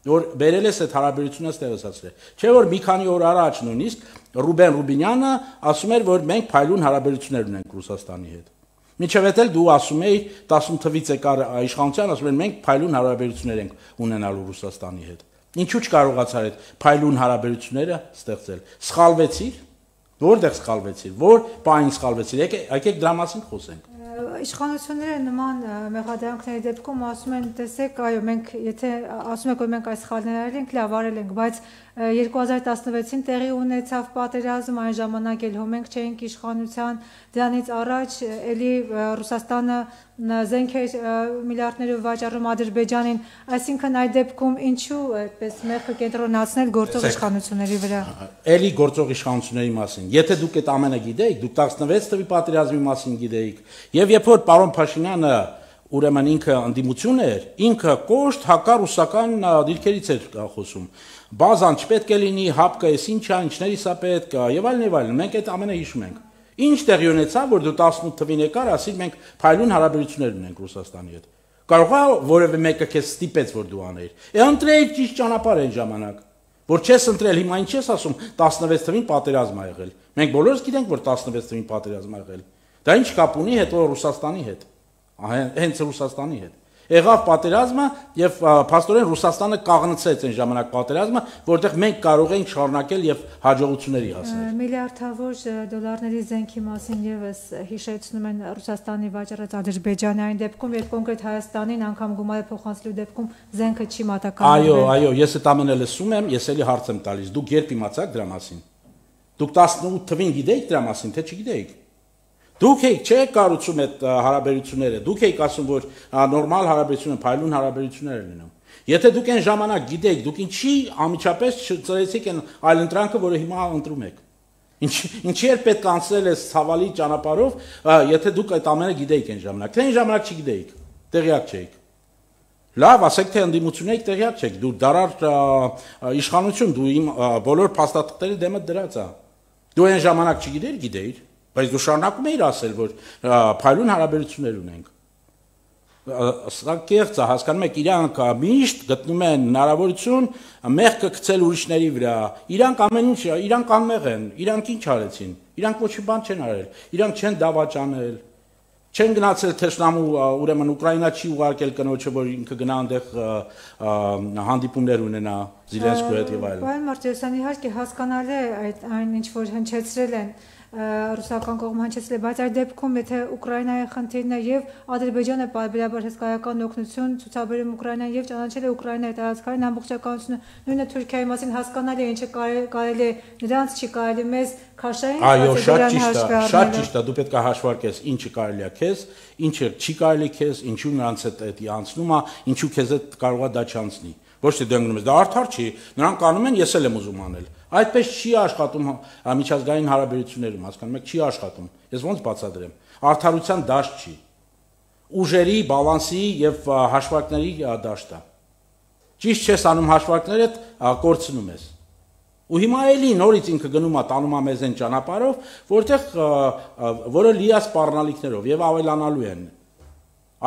որ բերել ես այդ հարաբերությունը ստեղծացրել։ Չէ՞ որ մի քանի օր առաջ նույնիսկ Ռուբեն Ռուբինյանը ասում էր, որ մենք փայլուն հարաբերություններ ունենք Ռուսաստանի հետ։ Մինչև էլ դու ասում էի 18 թվից եկար իշխանության, ասում են մենք փայլուն հարաբերություններ ենք ունենալու Ռուսաստանի հետ։ Ինչու չկարողացար այդ փայլուն հարաբերությունները ստեղծել։ Սխալվեցիր։ Որտեղ սխալվեցիր։ Որ բանին սխալվեցիր։ Եկեք դրա մասին խոսենք։ Իշխանությունները նման մեղադրանքների դեպքում ասում են, տեսեք, այո, մենք եթե ասում եք, որ մենք այս սխալները արել ենք, լավ արել ենք, բայց 2016-ին տեղի ունեցավ պատերազմ, այն ժամանակ էլ մենք չէինք իշխանության, դրանից առաջ էլի Ռուսաստանը զենք էր միլիարդներով վաճառում Ադրբեջանին, այսինքն այդ դեպքում ինչու այդպես մեղքը կենտրոնացնել գործող իշխանությունների վրա։ Էլի գործող իշխանությունների մասին։ Եթե դուք այդ ամենը գիտեիք, դուք 16 թվականի պատերազմի մասին գիտեիք, եւ երբ որ պարոն Փաշինյանը ուրեմն ինքը անդիմություն էր, ինքը կոշտ հակառուսական դիրքերից էր խոսում։ Բազան չպետք է լինի, հապկը էս ինչ է, ինչների սա պետք է, եւ այլն, մենք այդ ամենը հիշում ենք։ Ինչ տեղի ունեցավ, որ դու 18 թվին եկար, ասիր մենք փայլուն հարաբերություններ ունենք Ռուսաստանի հետ։ Կարող է որևէ մեկը քեզ ստիպեց, որ դու անեիր։ Ընտրեիր ճիշտ ճանապարհ այն ժամանակ։ Որ չես ընտրել, հիմա ինչ ես ասում, 16 թվին պատերազմ ա եղել։ Մենք բոլորս գիտենք, որ 16 թվին պատերազմ ա եղել։ Դա ինչ կապ ունի հետո Ռուսաստանի հետ։ Հենց Ռուսաստանի հետ։ Եղավ պատերազմը եւ փաստորեն Ռուսաստանը կաղնցեց այն ժամանակ պատերազմը, որտեղ մենք կարող էինք շարունակել եւ հաջողությունների հասնել։ Միլիարդավոր դոլարների զենքի մասին եւս հիշեցնում են Ռուսաստանի վաճառած Ադրբեջանի այն դեպքում, երբ կոնկրետ Հայաստանին անգամ գումարը փոխանցելու դեպքում զենքը չի մատակարարվել։ Այո, ես այդ ամենը լսում եմ, ես էլի հարց եմ տալիս։ Դուք երբ իմացաք դրա մասին։ Դուք 18 թվին գիտեիք դրա մասին, թե չգիտեիք։ Դուք եք չեք կառուցում այդ հարաբերությունները, դուք եք ասում, որ նորմալ հարաբերություններ, փայլուն հարաբերություններ են լինում։ Եթե դուք այն ժամանակ գիտեիք, դուք ինչի ամիջապես չծրեցիք այն այլընտրանքը, որը հիմա ընտրում եք։ Ինչի էր պետք անցնել այս ցավալի ճանապարհով, եթե դուք այդ ամենը գիտեիք այն ժամանակ։ Թե այն ժամանակ չգիտեիք, տեղյակ չէիք։ Լավ, ասեք թե ընդդիմություն եք, տեղյակ չեք։ Դու դարար իշխանություն, դու իմ բոլոր փաստաթղթերի դեմը դրած է։ Դու այն ժամանակ չգիտեիր, գիտեիր։ Բայց դու շարունակում էիր ասել, որ փայլուն հարաբերություններ ունենք։ Սա կեղծ է, հասկանում եք, իրանք միշտ գտնում են հնարավորություն մեղքը գցել ուրիշների վրա։ Իրանք ամեն ինչ, իրանք անմեղ են, իրանք ինչ արեցին։ Իրանք ոչ մի բան չեն արել։ Իրանք չեն դավաճանել, չեն գնացել թշնամու, ուրեմն Ուկրաինա չի ուղարկել կնոջը, որ ինքը գնա այնտեղ հանդիպումներ ունենա Զելենսկիի հետ եւ այլն։ Պարոն Մարտիրոսյան, իհարկե հասկանալի է այն ինչ որ հնչեցրել են ռուսական կողմը հնչեցրել, բայց այդ դեպքում եթե Ուկրաինայի խնդիրն է եւ Ադրբեջանը պարբերաբար հսկայական օգնություն ցուցաբերում Ուկրաինան եւ ճանաչել է Ուկրաինայի տարածքային ամբողջականությունը, նույնը Թուրքիայի մասին հասկանալի է, ինչը կարելի է նրանց չի կարելի մեզ քաշային։ Այո, շատ ճիշտ է, դու պետք է հաշվարկես ինչը կարելի է քեզ, ինչը չի կարելի քեզ, ինչու նրանց հետ դա անցնում է, ինչու քեզ հետ կարող է դա չանցնի։ Ոչ թե դեմ գնում ես, դա արդար չի, նրանք անում են, ես էլ եմ ուզում անել։ Այդպես չի աշխատում միջազգային հարաբերություններում, հասկանում եք, չի աշխատում։ Ես ոնց բացատրեմ։ Արդարության դաշտ չի։ Ուժերի, բալանսի եւ հաշվարկների դաշտ է։ Ճիշտ չես անում հաշվարկները, կորցնում ես։ Ու հիմա էլի նորից ինքը գնում է տանում է մեզ այն ճանապարհով, որտեղ որը լի է սպառնալիքներով եւ ավելանալու են։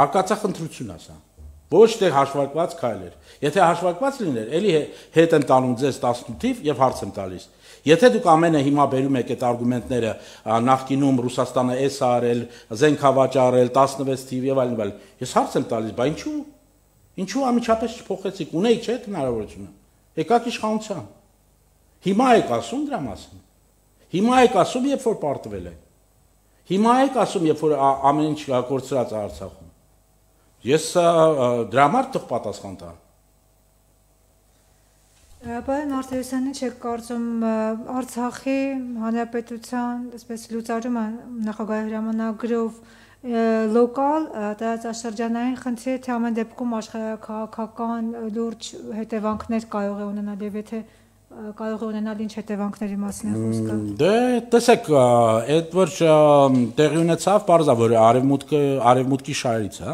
Արկածախնդրություն է սա։ Ոչ թե հաշվարկված քայլեր։ Եթե հաշվարկված լիներ, էլի հետ են տանում ձեզ 18-ով եւ հարց եմ տալիս։ Եթե դուք ամենը հիմա բերում եք այդ արգումենտները, նախկինում Ռուսաստանը էս արել, զենք հավաճառել, 16 թիվ եւ այլն, ես հարց եմ տալիս, բա ինչու։ Ինչու ամիջապես չփոխեցիք, ունեիք չէ՞ հնարավորությունը։ Եկաք իշխանության։ Հիմա եք ասում դրա մասին։ Հիմա եք ասում, երբ որ պարտվել է։ Հիմա եք ասում, երբ որ ամեն ինչ կորցրած է Արցախում։ Ես դրա համար թող պատասխան տամ։ Պարոն Մարտիրոսյանը չեք կարծում Արցախի հանրապետության, այսպես լուծարումը նախագահի հրամանագրով լոկալ տարածաշրջանային խնդիր թե ամեն դեպքում աշխարհաքաղաքական լուրջ հետևանքներ կարող է ունենալ եւ եթե կարող է ունենալ ինչ հետևանքների մասին է խոսքը։ Դե տեսեք, այդ որ տեղի ունեցավ, բարձա որ արևմուտքի շահերից է։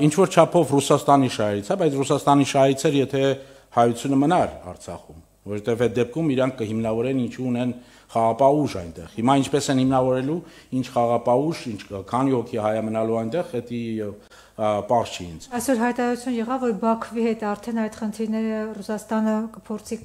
Ինչ որ չափով Ռուսաստանի շահերից է, բայց Ռուսաստանի շահից էր, եթե հայությունը մնար Արցախում, որովհետև այդ դեպքում իրանք կհիմնավորեն ինչու ունեն խաղապահ ուժ այնտեղ։ Հիմա ինչպես են հիմնավորելու, ինչ խաղապահ ուժ, ինչ քանի հոգի հայ մնալու այնտեղ, դա պարզ չի ինձ։ Այսօր հայտարարություն եղավ, որ Բաքվի հետ արդեն այդ խնդիրները Ռուսաստանը կփորձի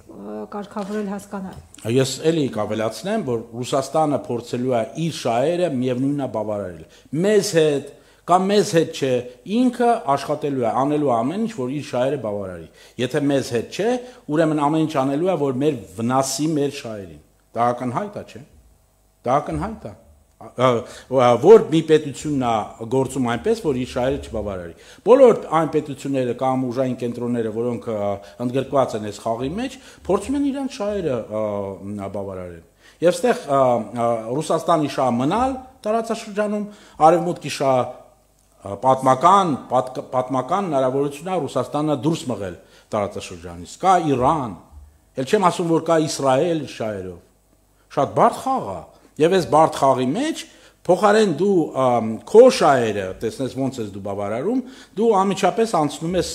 կարգավորել հասկանալ։ Ես էլի կավելացնեմ, որ Ռուսաստանը փորձելու է իր շահերը միևնույնն է բավարարել։ Մեզ հետ կամ մեզ հետ չէ, ինքը աշխատելու է, անելու է ամեն ինչ, որ իր շահերը բավարարի։ Եթե մեզ հետ չէ, ուրեմն ամեն ինչ անելու է, որ մեր վնասի մեր շահերին։ Դա ակնհայտ է, չէ՞։ Դա ակնհայտ է։ Որ մի պետությունն է գործում այնպես, որ իր շահերը չբավարարի։ Բոլոր այն պետությունները կամ ուժային կենտրոնները, որոնք ընդգրկված են այս խաղի մեջ, փորձում են իրենց շահերը բավարարել։ Եվ այստեղ Ռուսաստանի շահը մնալ տարածաշրջանում, արևմուտքի շահը պատմական հնարավորություն է Ռուսաստանը դուրս մղել տարածաշրջանից։ Կա Իրան, էլ չեմ ասում, որ կա Իսրայել շահերով։ Շատ բարդ խաղ է։ Եվ այս բարդ խաղի մեջ փոխարեն դու քո շահերը, տեսնես ոնց ես դու բավարարում, դու անմիջապես անցնում ես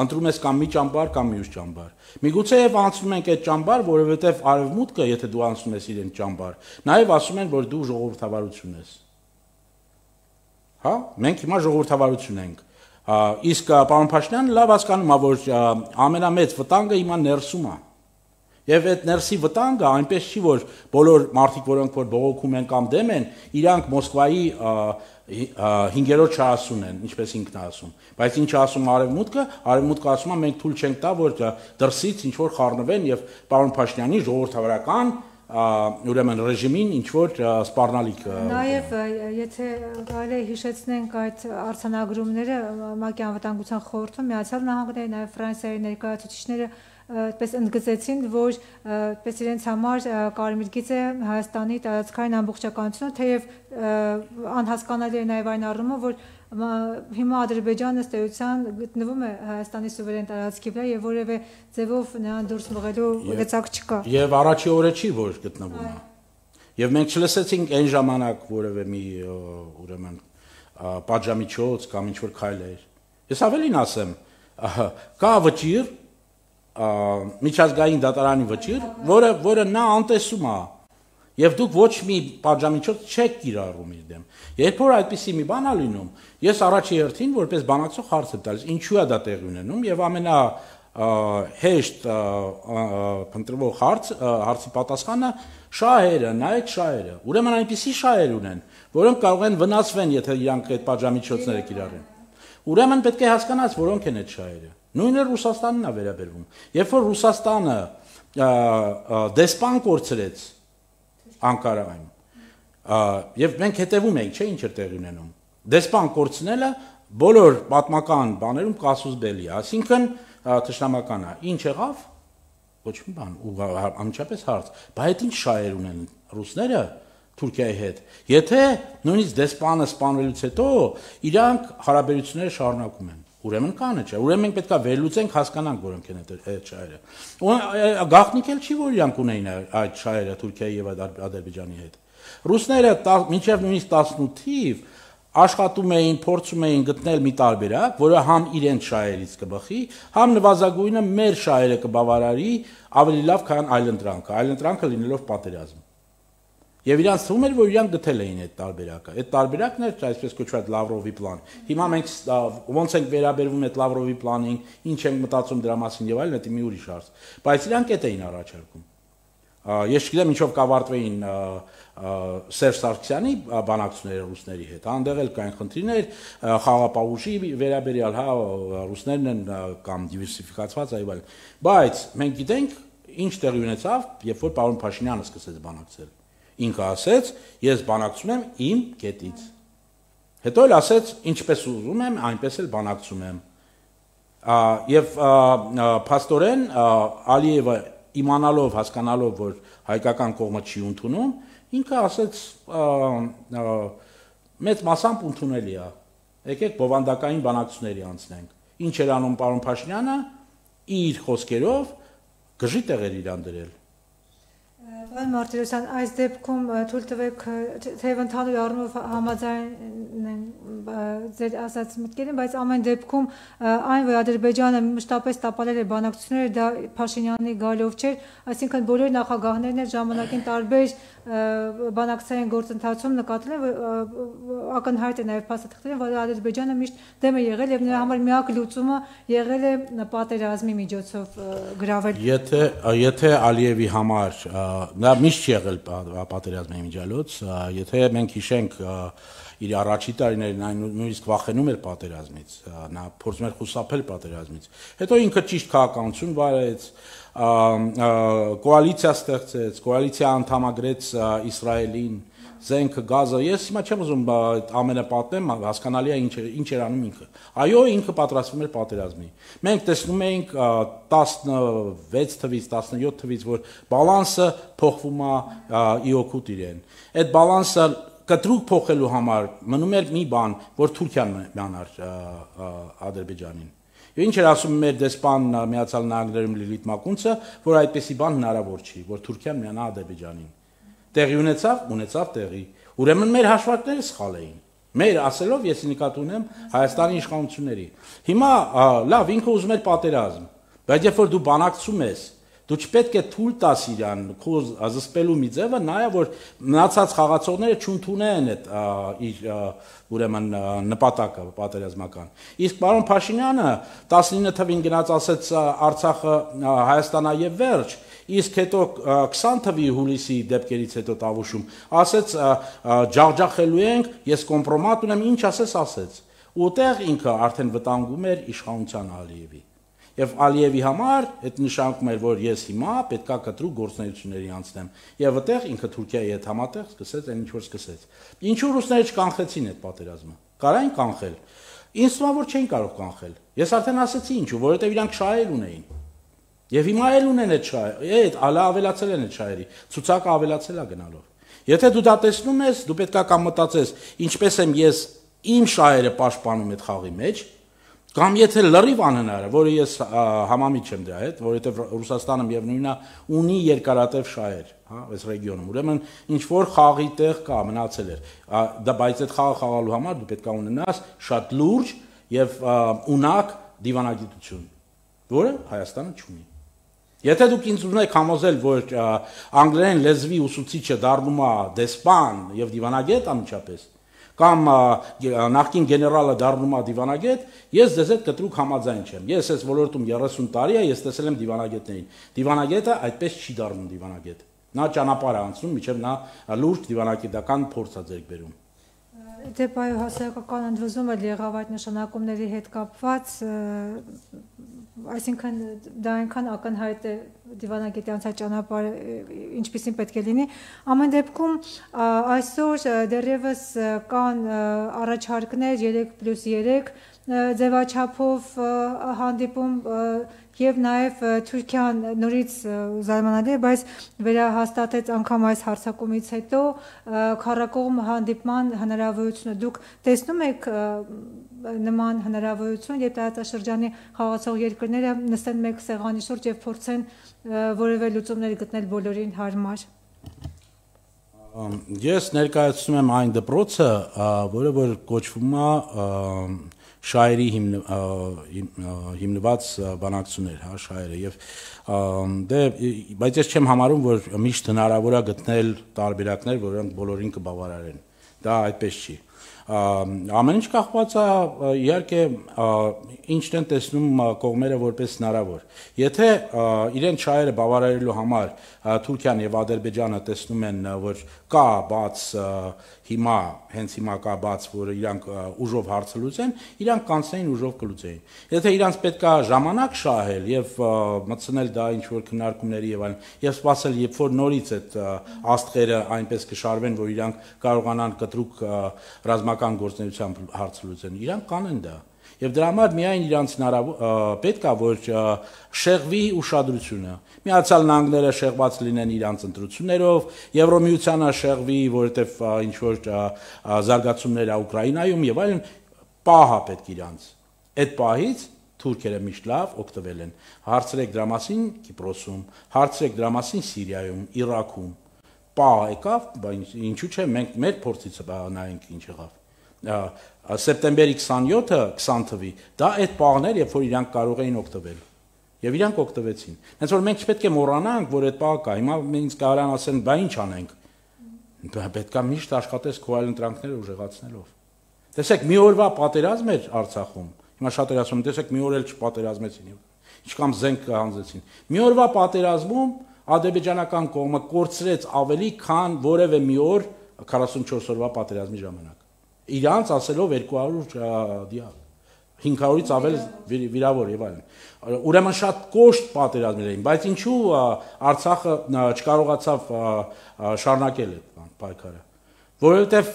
ընտրում ես կամ մի ճամբար կամ մյուս ճամբար։ Միգուցե եւ անցնում ենք այդ ճամբար, որովհետեւ արևմուտքը, եթե դու անցնում ես իրեն ճամբար, նաեւ ասում են, որ դու ժողովրդավարություն ես։ Հա, մենք հիմա ժողովրդավարություն ենք։ Իսկ պարոն Փաշինյանը լավ հասկանում է, որ ամենամեծ վտանգը հիմա ներսում է։ Եվ այդ ներսի վտանգը այնպես չի, որ բոլոր մարդիկ, որոնք որ բողոքում են կամ դեմ են, իրանք Մոսկվայի 5-րդ շահասուն են, ինչպես ինքն է ասում։ Բայց ինչ ասում արևմուտքը ասում է, մենք թույլ չենք տա, որ դրսից ինչ որ խառնվեն եւ պարոն Փաշինյանի ժողովրդավարական ուրեմն ռեժիմին ինչ որ սպառնալիք։ Նաև եթե կարելի է հիշեցնենք այդ արձանագրումները ՄԱԿ-ի անվտանգության խորհրդում Միացյալ Նահանգների, նաև Ֆրանսիայի ներկայացուցիչները այդպես ընդգծեցին, որ այդպես իրենց համար կարմիր գիծ է Հայաստանի տարածքային ամբողջականությունը, թեև անհասկանալի է նաև այն առումով, որ հիմա Ադրբեջանը ըստ էության գտնվում է Հայաստանի սուվերեն տարածքի վրա եւ որևէ ձևով նրան դուրս մղելու լծակ չկա։ Եվ առաջի օրը չի, որ գտնվում է։ Եվ մենք չլսեցինք այն ժամանակ որևէ մի ուրեմն պատժամիջոց կամ ինչ որ քայլ էր։ Ես ավելին ասեմ, կա վճիռ միջազգային դատարանի վճիռ, որը նա անտեսում է։ Եվ դուք ոչ մի պատժամիջոց չեք կիրառում իր դեմ։ Երբ որ այդպիսի մի բան է լինում, ես առաջի հերթին որպես բանակցող հարց եմ տալիս, ինչու է դա տեղի ունենում եւ ամենահեշտ փնտրվող հարցի պատասխանը շահերը, նայեք շահերը։ Ուրեմն այնպիսի շահեր ունեն, որոնք կարող են վնասվեն, եթե իրանք այդ պատժամիջոցները կիրառեն։ Ուրեմն պետք է հասկանաս, որոնք են այդ շահերը։ Նույնը Ռուսաստանն է վերաբերվում։ Երբ որ Ռուսաստանը դեսպան կորցրեց Անկարայում, եւ մենք հետևում ենք, չէ՞, ինչ էր տեղի ունենում։ Դեսպան կորցնելը բոլոր պատմական բաներում կասուս բելի է, այսինքն թշնամական է։ Ինչ եղավ։ Ոչ մի բան, ու անմիջապես հարց, բայց այդ ինչ շահեր ունեն ռուսները Թուրքիայի հետ։ Եթե նույնիսկ դեսպանը սպանվելուց հետո իրանք հարաբերությունները շարունակում են։ Ուրեմն կան չէ։ Ուրեմն մենք պետք է վերլուծենք, հասկանանք, որոնք են այդ շահերը։ Գաղտնիք էլ չի, որ իրանք ունեին այդ շահերը Թուրքիայի եւ Ադրբեջանի հետ։ Ռուսները մինչեւ նույնիսկ 18 թիվ աշխատում էին, փորձում էին գտնել մի տարբերակ, որը համ իրենց շահերից կբխի, համ նվազագույնը մեր շահերը կբավարարի ավելի լավ, քան այլընտրանքը լինելով պատերազմ։ Եվ իրանց թվում էր, որ իրանք գտել էին այդ տարբերակը։ Այդ տարբերակն էր, այսպես կոչված Լավրովի պլան։ Հիմա մենք ոնց ենք վերաբերվում այդ Լավրովի պլանին, ինչ ենք մտածում դրա մասին եւ այլն, դա մի ուրիշ հարց։ Բայց իրանք այդ էին առաջարկում։ Ես չգիտեմ ինչով կավարտվեին Սերժ Սարգսյանի բանակցությունները ռուսների հետ, այնտեղ էլ կային խնդիրներ, խաղապահուժի վերաբերյալ, հա, ռուսներն են կամ դիվերսիֆիկացված այլ այլ։ Բայց մենք գիտենք ինչ տեղի ունեցավ, երբ որ պարոն Փաշինյանը սկսեց բանակցել։ Ինքը ասեց, ես բանակցում եմ իմ կետից։ Հետո էլ ասեց, ինչպես ուզում եմ, այնպես էլ բանակցում եմ։ Եվ փաստորեն Ալիևը իմանալով, հասկանալով, որ հայկական կողմը չի ընդունում, ինքը ասեց մեծ մասամբ ընդունելի է։ Եկեք բովանդակային բանակցությունների անցնենք։ Ինչ էր անում պարոն Փաշինյանը, իր խոսքերով գժի տեղեր իրան դրել։ Պարոն Մարտիրոսյան, այս դեպքում թույլ տվեք, թեև ընդհանուր առումով համաձայն են ձեր ասած մտքերին, բայց ամեն դեպքում այն, որ Ադրբեջանը մշտապես տապալել է բանակցությունները, դա Փաշինյանի գալով չէր, այսինքն բոլոր նախագահներն այդ ժամանակին տարբեր բանակցային գործընթացում նկատել են, որ ակնհայտ է նաև փաստաթղթերին, որ Ադրբեջանը միշտ դեմ է եղել եւ նրա համար միակ լուծումը եղել է պատերազմի միջոցով գրավել։ Եթե Ալիևի համար նա միշտ չի եղել պատերազմի միջալոց, եթե մենք հիշենք իր առաջի տարիներին այն նույնիսկ վախենում էր պատերազմից, նա փորձում էր խուսափել պատերազմից։ Հետո ինքը ճիշտ քաղաքականություն վարեց, կոալիցիա ստեղծեց, կոալիցիա անդամագրեց Իսրայելին, զենքը, գազը, ես հիմա չեմ ուզում ամենը պատմեմ, հասկանալի է ինչ էր անում ինքը։ Այո, ինքը պատրաստվում էր պատերազմի։ Մենք տեսնում էինք 16 թվից, 17 թվից, որ բալանսը փոխվում է իօքուտ իրեն։ Այդ բալանսը կտրուկ փոխելու համար մնում էր մի բան, որ Թուրքիան միանար Ադրբեջանին։ Եվ ինչ էր ասում մեր դեսպան Միացյալ Նահանգներում Լիլիթ Մակունցը, որ այդպեսի բան հնարավոր չի, որ Թուրքիան միանա Ադրբեջանին։ Տեղի ունեցավ տեղի։ Ուրեմն մեր հաշվարկները սխալ էին։ Մեր ասելով ես նկատի ունեմ Հայաստանի իշխանությունների։ Հիմա լավ, ինքը ուզում էր պատերազմ, բայց երբ որ դու բանակցում ես, դու չպետք է թույլ տաս իրան քո զսպելու մի ձևը, նայա որ մնացած խաղացողները չընդունեն այդ իր ուրեմն նպատակը պատերազմական։ Իսկ պարոն Փաշինյանը 19 թվին գնաց ասեց Արցախը Հայաստանա եւ վերջ, իսկ հետո 20 թվի հուլիսի դեպքերից հետո Տավուշում ասեց ջախջախելու ենք, ես կոմպրոմատ ունեմ, ինչ ասեց։ Ուտեղ ինքը արդեն վտանգում էր իշխանության Ալիևի։ Եվ Ալիևի համար այդ նշանակում էր, որ ես հիմա պետքա կտրուկ գործունեությունների անցնեմ։ Եվ այդտեղ ինքը Թուրքիայի հետ համատեղ սկսեց այն ինչ որ սկսեց։ Ինչու ռուսները չկանխեցին այդ պատերազմը։ Կարային կանխել։ Ինձ թվում է, որ չէին կարող կանխել։ Ես արդեն ասացի ինչու, որովհետև իրանք շահեր ունեին։ Եվ հիմա էլ ունեն այդ շահերը, այդ ավելացել են այդ շահերի, ցուցակը ավելացել է գնալով։ Եթե դու դա տեսնում ես, դու պետքա կամ մտածես, ինչպես եմ ես իմ շահերը պաշտպանում այդ խաղի մեջ, կամ եթե լրիվ անհնար է, որը ես համամիջ եմ դրա հետ, որովհետև Ռուսաստանը միևնույնն է ունի երկարատև շահեր, հա, այս ռեգիոնում։ Ուրեմն ինչ որ խաղի տեղ կա, մնացել էր։ Դա բայց այդ խաղը խաղալու համար դու պետք է ունենաս շատ լուրջ եւ ունակ դիվանագիտություն, որը Հայաստանը չունի։ Եթե դուք ինձ ուզում եք համոզել, որ անգլերեն լեզվի ուսուցիչը դառնում է դեսպան եւ դիվանագետ անմիջապես, կամ նախկին գեներալը դառնում է դիվանագետ, ես ձեզ հետ կտրուկ համաձայն չեմ։ Ես այս ոլորտում 30 տարի է, ես տեսել եմ դիվանագետներին։ Դիվանագետը այդպես չի դառնում դիվանագետ։ Նա ճանապարհ է անցնում, մինչև նա լուրջ դիվանագիտական փորձ է ձեռք բերում։ Դե այո, հասարակական ընդվզումը եղավ այդ նշանակումների հետ կապված, այսինքն դա այնքան ակնհայտ է դիվանագետի անցած ճանապարհը ինչպիսին պետք է լինի։ Ամեն դեպքում այսօր դեռևս կան առաջարկներ 3+3 ձևաչափով հանդիպում եւ նաեւ Թուրքիան նորից զարմանալի է, բայց վերահաստատեց անգամ այս հարձակումից հետո քառակողմ հանդիպման հնարավորությունը։ Դուք տեսնում եք նման հնարավորություն, երբ տարածաշրջանի խաղացող երկրները նստեն մեկ սեղանի շուրջ եւ փորձեն որևէ լուծումներ գտնել բոլորին հարմար։ Ես ներկայացնում եմ այն դպրոցը, որը որ կոչվում է շայերի հիմնված բանակցություններ, հա, շայերը եւ բայց ես չեմ համարում, որ միշտ հնարավոր է գտնել տարբերակներ, որոնք բոլորին կբավարարեն։ Դա այդպես չի։ Ամեն ինչ կախված է իհարկե ինչն են տեսնում կողմերը որպես հնարավոր։ Եթե իրեն շահերը բավարարելու համար Թուրքիան եւ Ադրբեջանը տեսնում են, որ կա բաց հենց հիմա կա բաց, որ իրանք ուժով հարցը լուծեն, իրանք կանցնեին ուժով կլուծեին։ Եթե իրանք պետք է ժամանակ շահել եւ մտցնել դա ինչ որ քննարկումների եւ այլն, եւ սпасել, երբ որ նորից այդ աստղերը այնպես կշարվեն, որ իրանք կարողանան կտրուկ ռազմական գործունեությամբ հարցը լուծեն, իրանք կանեն դա։ Եվ դրա համար միայն իրանց պետք է որ շեղվի ուշադրությունը։ Միացյալ Նահանգները շեղված լինեն իրանց ընտրություններով, Եվրոմիությանը շեղվի, որովհետև ինչ որ զարգացումներ է Ուկրաինայում եւ այլն, պահա պետք իրանց։ Այդ պահից թուրքերը միշտ լավ օգտվել են։ Հարցրեք դրա մասին Կիպրոսում, հարցրեք դրա մասին Սիրիայում, Իրաքում։ Պահ եկավ, բայց ինչու՞ չէ, մենք մեր փորձից նայենք ինչ եղավ։ Սեպտեմբերի 27-ը 20 թվի, դա այդ պահներ, երբ որ իրանք կարող էին օգտվել։ Եվ իրանք օգտվեցին։ Հենց որ մենք չպետք է մոռանանք, որ այդ պահը կա։ Հիմա ինձ կարան ասեն, բա ինչ անենք։ Պետք է միշտ աշխատես քո այլ ընտրանքները ուժեղացնելով։ Տեսեք, մի օրվա պատերազմ էր Արցախում։ Հիմա շատերը ասում են, տեսեք, մի օր էլ չպատերազմեցին։ Ինչքան զենք հանձեցին։ Մի օրվա պատերազմում ադրբեջանական կողմը կորցրեց ավելի, քան որևէ մի օր 44 օրվա պատերազմի ժամանակ։ Իրանց ասելով 200 դիակ, 500-ից ավել վիրավոր եւ այլն։ Ուրեմն շատ կոշտ պատերազմներ էին, բայց ինչու Արցախը չկարողացավ շարունակել այդ պայքարը։ Որովհետեւ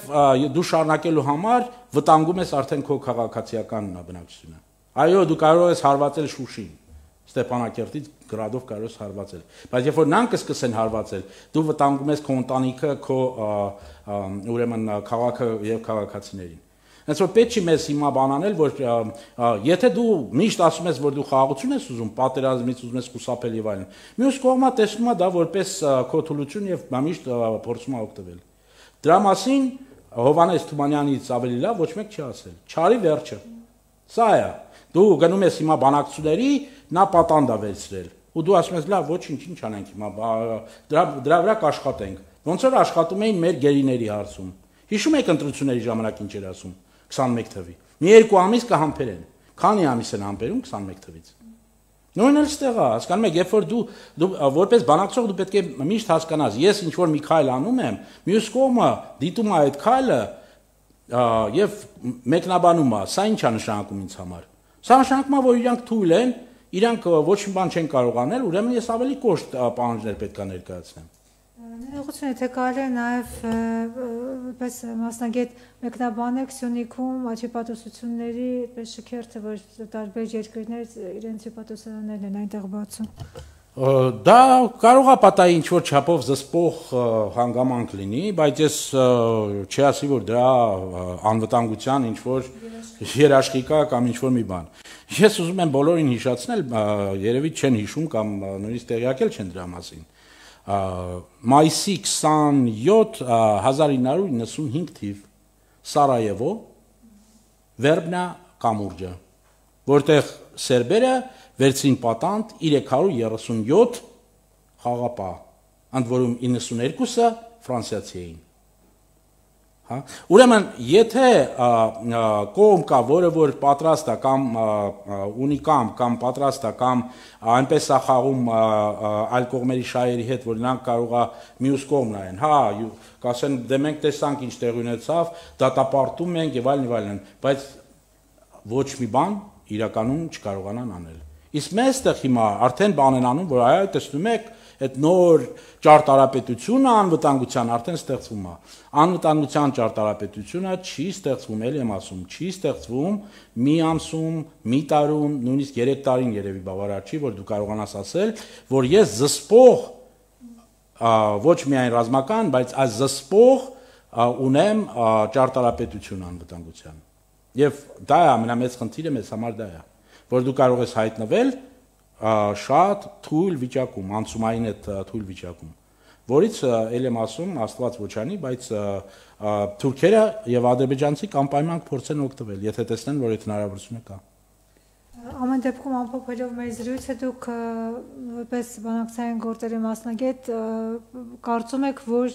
դու շարունակելու համար վտանգում ես արդեն քո քաղաքացիական բնակչությունը։ Այո, դու կարող ես հարվածել Շուշին, Ստեփանակերտից գրադով կարող ես հարվածել։ Բայց երբ որ նրանք սկսեն հարվածել, դու վտանգում ես քո ընտանիքը, քո ուրեմն քաղաքը եւ քաղաքացիներին։ Հենց որ պետք չի մեզ հիմա բանանել, որ եթե դու միշտ ասում ես, որ դու խաղաղություն ես ուզում, պատերազմից ուզում ես խուսափել եւ այլն, մյուս կողմը տեսնում է դա որպես քո թուլություն եւ միշտ փորձում է օգտվել։ Դրա մասին Հովհաննես Թումանյանից ավելի լավ ոչ մեկ չի ասել։ Չարի վերջը։ Սա է։ Դու գնում ես հիմա բանակցությունների, նա պատանդ է վերցրել։ Ու դու ասում ես, լավ, ոչինչ, ինչ անենք հիմա, դրա վրա կաշխատենք։ Ոնց որ աշխատում էին մեր գերիների հարցում։ Հիշում եք ընտրությունների ժամանակ ինչ էր ասում 21 թվի։ Մի երկու ամիս կհամբերեն։ Քանի ամիս են համբերում 21 թվից։ Նույնն էլ ստեղ է, հասկանում եք, երբ որ դու որպես բանակցող դու պետք է միշտ հասկանաս, ես ինչ որ մի քայլ անում եմ, մյուս կողմը դիտում է այդ քայլը եւ մեկնաբանում է, սա ինչ է նշանակում ինձ համար։ Սա նշանակում է, որ իրանք թույլ են, իրանք ոչ մի բան չեն կարող անել, ուրեմն ես ավելի կոշտ պահանջներ պետք է ներկայացնեմ։ Ներողություն, եթե կարելի է նաև պես մասնագետ մեկնաբանել Սյունիքում աչիպատոսությունների պես շքերթը, որ տարբեր երկրներ իրենց հիպատոսարաններն են այնտեղ բացում։ Դա կարող է պատահի ինչ որ չափով զսպող հանգամանք լինի, բայց ես չի ասի, որ դրա անվտանգության ինչ որ երաշխիք է կամ ինչ որ մի բան։ Ես ուզում եմ բոլորին հիշեցնել, երևի չեն հիշում կամ նույնիսկ տեղյակ էլ չեն դրա մասին։ Մայիսի 27 1995 թիվ Սարայևո Վերբնա կամուրջը, որտեղ սերբերը վերցին պատանդ 337 խաղապահ, ընդ որում 92-ը ֆրանսիացի էին։ Հա, ուրեմն եթե կողմ կա, որը որ պատրաստ է կամ ունի կամ պատրաստ է կամ այնպես է խաղում այլ կողմերի շահերի հետ, որ նրանք կարող է մյուս կողմ նայեն, հա, կասեն դե մենք տեսանք ինչ տեղի ունեցավ, դատապարտում ենք եւ այլն, բայց ոչ մի բան իրականում չկարողանան անել։ Իսկ մեզ տեղ հիմա արդեն բան են անում, որ այո, տեսնում եք, այդ նոր ճարտարապետությունը անվտանգության արդեն ստեղծվում է։ Անվտանգության ճարտարապետությունը չի ստեղծվում, ելի եմ ասում, չի ստեղծվում մի ամսում, մի տարում, նույնիսկ 3 տարին երևի բավարար չի, որ դու կարողանաս ասել, որ ես զսպող ոչ միայն ռազմական, բայց այս զսպող ունեմ ճարտարապետություն անվտանգության։ Եվ դա է ամենամեծ խնդիրը մեզ համար դա է, որ դու կարող ես հայտնվել շատ թույլ վիճակում, անցումային այդ թույլ վիճակում, որից ել եմ ասում, Աստված ոչ անի, բայց թուրքերը եւ ադրբեջանցիք անպայման փորձեն օգտվել, եթե տեսնեն, որ այդ հնարավորությունը կա։ Ամեն դեպքում ամփոփելով մեր զրույցը դուք որպես բանակցային գործերի մասնագետ կարծում եք, որ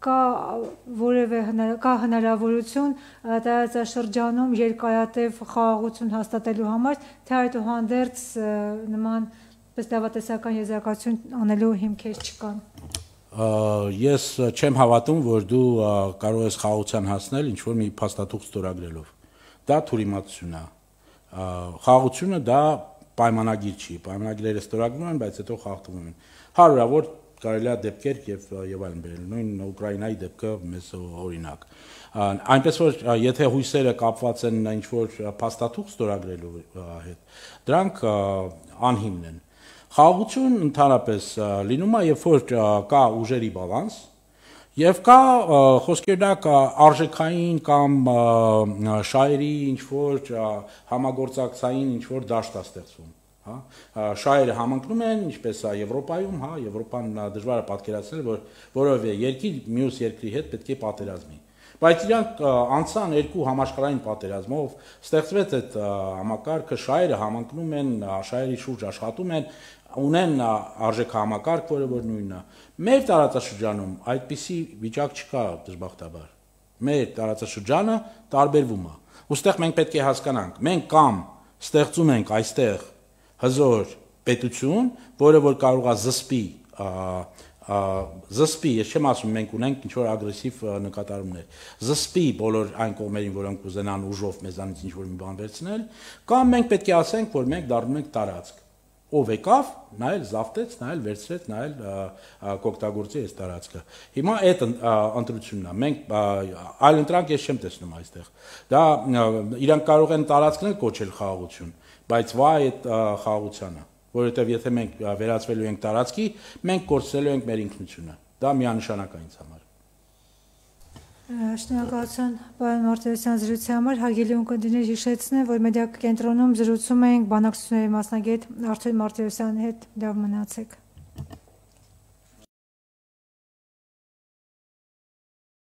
կա որևէ հնարավորություն տարածաշրջանում երկարատև խաղաղություն հաստատելու համար, թե այդուհանդերձ նման դավատեսական եզրակացություն անելու հիմքեր չկան։ Ես չեմ հավատում, որ դու կարող ես խաղաղության հասնել ինչ-որ մի փաստաթուղթ ստորագրելով։ Դա թյուրիմացություն է։ Խաղաղությունը դա պայմանագիր չի, պայմանագիրները ստորագրվում են, բայց հետո խախտվում են։ Հարյուրավոր կարելի է դեպքեր եւ այլն բերել, նույն Ուկրաինայի դեպքը մեզ օրինակ։ Այնպես որ եթե հույսերը կապված են ինչ-որ փաստաթուղթ ստորագրելու հետ, դրանք անհիմն են։ Խաղաղություն ընդհանրապես լինում է, երբ որ կա ուժերի բալանս, եւ կա խոսքերնակ արժեքային կամ շահերի ինչ-որ համագործակցային ինչ-որ դաշտ է ստեղծվում, հա, շահերը համընկնում են, ինչպես է Եվրոպայում, հա, Եվրոպան դժվար է պատկերացնել, որ որևէ երկիր մյուս երկրի հետ պետք է պատերազմի։ Բայց իրանք անցան երկու համաշխարհային պատերազմով, ստեղծվեց այդ համակարգը, շահերը համընկնում են, շահերի շուրջ աշխատում են, ունեն արժեքահամակարգ, որը որ նույնն է։ Մեր տարածաշրջանում այդպիսի վիճակ չկա դժբախտաբար։ Մեր տարածաշրջանը տարբերվում է։ Ոստեղ մենք պետք է հասկանանք, մենք կամ ստեղծում ենք այստեղ հզոր պետություն, որը որ կարող է զսպի, ես չեմ ասում մենք ունենք ինչ-որ ագրեսիվ նկատառումներ, զսպի բոլոր այն կողմերին, որոնք ուզենան ուժով մեզանից ինչ-որ մի բան վերցնել, կամ մենք պետք է ասենք, որ մենք դառնում ենք տարածք։ Ով եկավ, նա էլ զավթեց, նա էլ վերցրեց, նա էլ կօգտագործի այս տարածքը։ Հիմա այդ ընտրությունն է։ Մենք այլ ընտրանք ես չեմ տեսնում այստեղ։ Դա իրանք կարող են տարածքներ կոչել խաղաղություն, բայց վայ այդ խաղաղությանը, որովհետև եթե մենք վերածվելու ենք տարածքի, մենք կորցրելու ենք մեր ինքնությունը։ Դա միանշանակ է ինձ համար։ Շնորհակալություն պարոն Մարտիրոսյան զրույցի համար, հարգելի ունկնդիրներ, հիշեցնեմ, որ մեդիա կենտրոնում զրուցում էինք բանակցությունների մասնագետ Արթուր Մարտիրոսյանի հետ, լավ մնացեք։